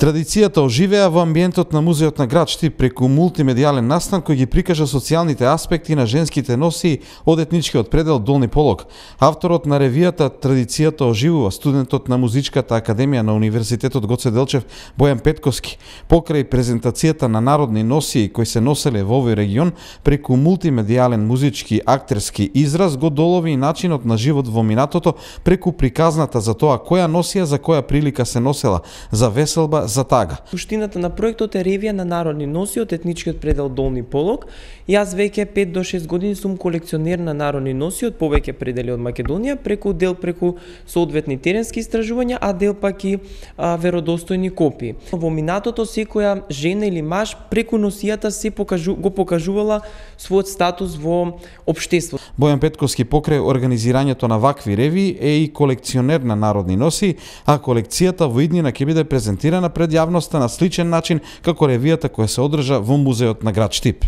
Традицијата оживеа во амбиентот на Музеот на град Штип преку мултимедијален настан кој ги прикажа социјалните аспекти на женските носии од етничкиот предел Долни Полог. Авторот на ревијата Традицијата оживува, студентот на Музичката академија на Универзитетот Гоце Делчев Бојан Петковски, покрај презентацијата на народни носии кои се носеле во овој регион, преку мултимедијален музички актерски израз го долови и начинот на живот во минатото преку приказната за тоа која носија за која прилика се носела, за веселба, за тага. Суштината на проектот е ревија на народни носии од етничкиот предел Долни Полог. Јас веќе 5 до 6 години сум колекционер на народни носии од повеќе предели од Македонија, преку соодветни теренски истражувања, а дел пак и веродостојни копии. Во минатото секоја жена или маж преку носијата се го покажувала својот статус во општеството. Бојан Петковски покрај организирањето на вакви ревии е и колекционер на народни носии, а колекцијата во иднина ќе биде презентирана пред јавноста на сличен начин како ревијата која се одржа во Музеот на град Штип.